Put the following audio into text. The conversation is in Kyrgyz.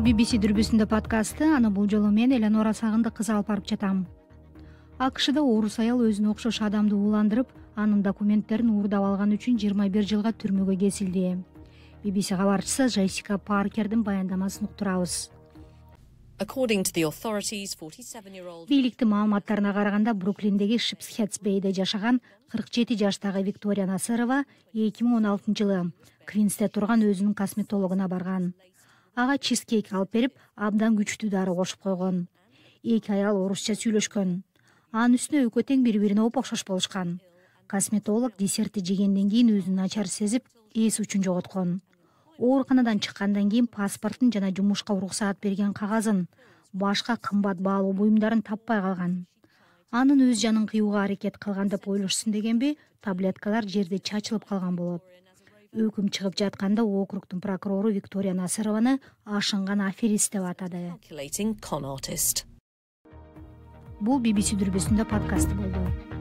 BBC дүрбүсүндө подкасты. Аны бул жолу мен Эленора Сагындык кызы алып барып жатам. АКШда орус аял өзүнө окшош адамды ууландырып, анын документтерин уурдап алган үчүн 21 жылга түрмөгө кесилди. BBC кабарчысы Джессика Паркердин баяндамасын уктурабыз. Бийликтин маалыматтарына караганда, Бруклиндеги Шипсхедс-Бейде жашаган 47 жаштагы Виктория Насырова 2016 жылы Квинсте турган өзүнүн косметологуна барган. Ага чизкейк алып берип, абдан күчтүү дары кошуп койгон. Эки аял орусча сүйлөшкөн. Анын үстүнө экөө тең бири-бирине оп-окшош болушкан. Косметолог десертти жегенден кийин өзүн начар сезип, эс учун жоготкон. Ооруканадан чыккандан кийин паспортун жана жумушка уруксаат берген кагазын, башка кымбат баалуу буюмдарын таппай калган. Анын өз жанын кыюуга аракет кылган деп ойлошсун дегенби, таблеткалар жерде чачылып калган болот. Өкүм чыгып жатканда округдун прокурору Виктория Насырованы ашынган аферист деп атады. Бул BBC дүрбүсүндө подкасты болду.